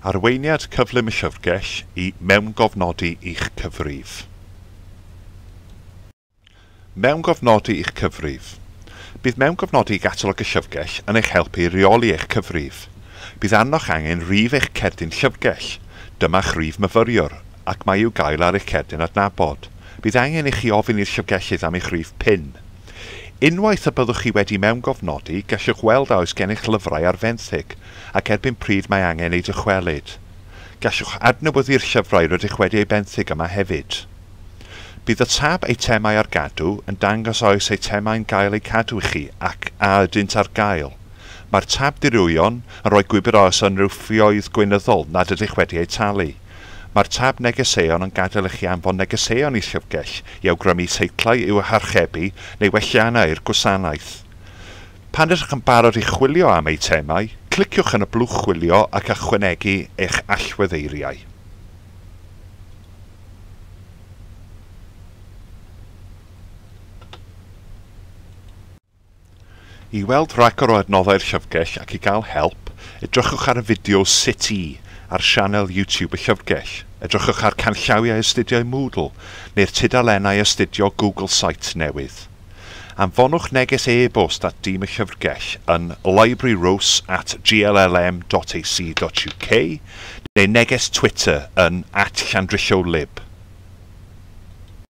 Arweiniad cyflym y llyfrgell i mewngofnodi i'ch cyfrif. Mewngofnodi i'ch cyfrif. Bydd mewngofnodi i gatalog y llyfrgell yn eich helpu i reoli eich cyfrif. Bydd arnoch angen rhif eich cerdyn llyfrgell. Dyma'ch rhif myfyriwr, ac mae i'w gael ar eich cerdyn adnabod. Bydd angen i chi ofyn i'r llyfrgellydd am eich rhif PIN. Unwaith y byddwch chi wedi mewngofnodi, gallwch weld a oes gennych lyfrau ar fenthyg, ac erbyn pryd mae angen eu dychwelyd. Gallwch adnewyddu'r llyfrau rydych wedi eu benthyg yma hefyd. Bydd y tab Eitemau ar gadw yn dangos a oes eitemau'n gael eu cadw i chi ac a ydynt ar gael. Mae'r tab Dirwyon yn rhoi gwybod a oes unrhyw ffioedd gweinyddol nad ydych wedi eu talu. Mae'r tab Negeseuon yn gadael i chi anfon negeseuon i llyfrgell i awgrymu teitlau i'w harchebu neu welliannau i'r gwasanaeth. Pan ydych yn barod i chwilio am eitemau, cliciwch yn y blwch chwilio ac ychwanegu eich allweddeiriau. I weld rhagor o adnoddau'r llyfrgell ac i gael help, edrychwch ar y fideo Sut i ar sianel YouTube y llyfrgell. Edrychwch ar canllawiau astudiau Moodle neu'r tudalennau astudio Google Sites newydd. Anfonwch neges e-bost at dîm y llyfrgell yn libraryrose@gllm.ac.uk neu neges Twitter yn @llandrillo_lib.